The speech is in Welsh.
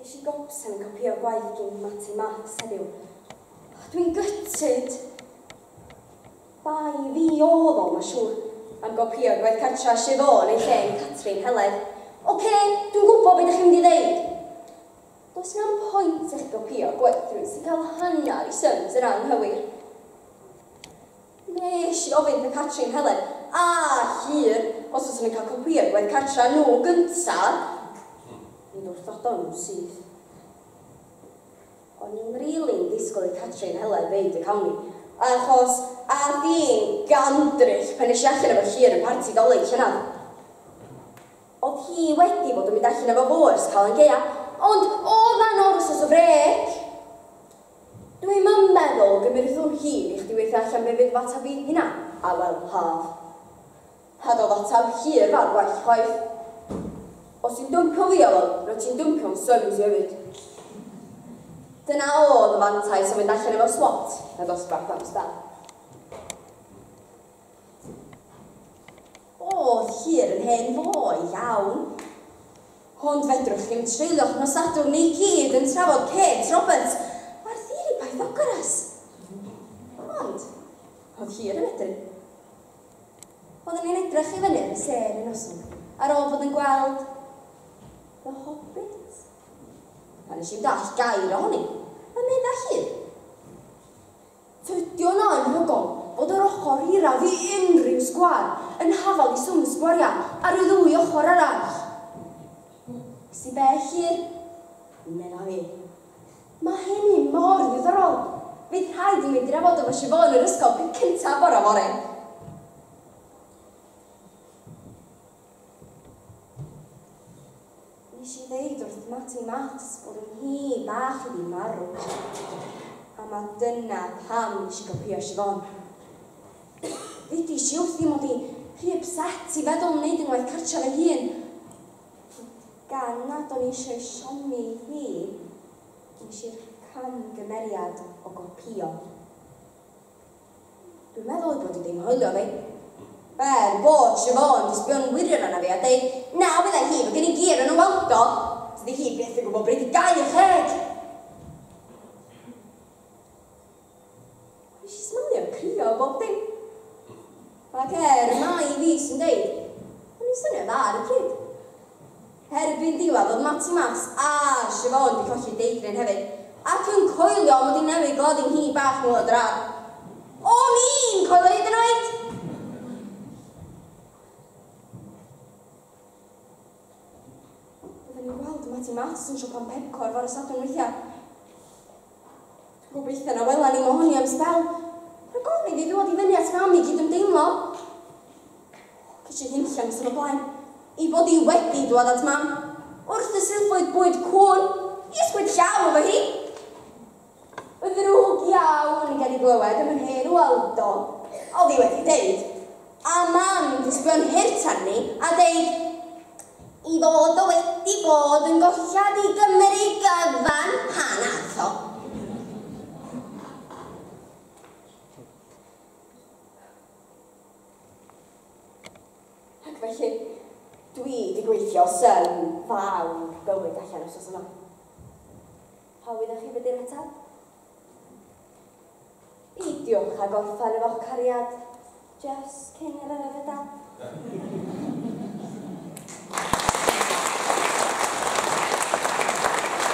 Ges i gopsan yn copïo gwaith gin Matty Maths heddiw. Dwi'n gutted. Bai fi oedd o, mae'n siŵr, am gopïo gwaith cartra Siobhan yn lle yn Catrin Heledd. Oce, dwi'n gwybod beth ydych chi'n mynd i ddeud. Does na'm pwynt i chi gopïo gwaith rhywun sy'n cael hanner i syms yn anghywir. Nes i ofyn wrth Catrin Heledd a Llyr os fyswn i'n cael copïo gwaith cartra nhw gynta. Mi wrthodon nhw'n syth. O'n i'm rili'n disgwyl i Catrin Heledd ddeud y cawn ni, achos ath hi'n gandryll pan es i allan efo Llyr yn parti Dolig llynedd. Oedd hi wedi bod yn mynd allan efo fo ers Calan Gaea, ond oedd 'na o'r wythnos o frêc. Dwi'm yn meddwl gymrith hwn hir i chdi weithio allan be fydd f'ateb i hynna, Awel Haf. A doedd ateb hir fawr gwell chwaith. Os ti'n dwmpio fi, Awel, rwyt ti'n dwmpio'n syms i hefyd. Dyna oedd y fantais o fynd allan efo swat na dosbarth am sbel. Oedd Llyr yn hen foi iawn. Ond fedrwch chi'm treulio'ch nos Sadwrn i gyd yn trafod Kate Roberts a'r theori Pythagoras. Ond, oedd Llyr yn medru. Oedden ni'n edrych i fyny ar y sêr un noson, ar ôl bod yn gweld The Hobbit. A nes i'm dallt gair ohoni, a medda Llyr. Tydi o'n anhygoel bod yr ochr hiraf i unrhyw sgwâr yn hafal i swm y sgwariau ar y ddwy ochr arall. Sy be, Llyr? Medda fi. Mae hynny mor ddiddorol. Fydd rhaid i mi drafod efo Siobhan yr ysgol peth cyntaf bore fory. Nes i ddeud wrth Matty Maths bod yn nghi bach i fi marw. A ma dyna pam nes i gopïo Siobhan. Ddeudis i wrthi mod i rhy upset i feddwl am wneud yng ngwaith cartra fy hun. Ond gan nad o'n i eisiau siomi hi, nes i'r camgymeriad o gopïo. Dwi'n meddwl ei bod hi 'di nghoelio fi. Er bod Siobhan 'di sbio'n wirion arna fi a deud, na, meddai hi, mae gen i gi o'r enw Waldo. Dydi hi byth yn gwybod bryd i gau ei cheg. Nes i smalio crio a bob dim. Ac er mai fi sy'n deud, o'n i'n swnio dda ar y pryd. Erbyn diwedd oedd Matty Maths a Siobhan 'di colli deigryn hefyd, ac yn coelio mod i newydd gladdu nghi bach nhw o drar. O'n i'n coelio hyd yn oed! Oedden ni'n gweld Matty Maths yn siopa'n Pepco ar fore Sadwrn weithiau. Dwi'n gobeithio na wela ni mohoni am sbel. Rhag ofn iddi ddŵad i fyny at mam i gydymdeimlo. Ces i hunllen noson o blaen. I bod i wedi dŵad at mam. Wrth y silffoedd bwyd cŵn. I ysgwyd llaw efo hi. Y ddrwg iawn gen i glywed am yr hen Waldo. Oedd hi wedi deud. A mam 'di sbio'n hurt arni a deud i fod o wedi bod yn gollad i Gymru gyfan pan ath o. Ac felly, dwi 'di gweithio sym fawr bywyd allan wsos yma. Pa wyddoch chi be di'r ateb? Peidiwch â gorffen efo'ch cariad jyst cyn yr arafedau.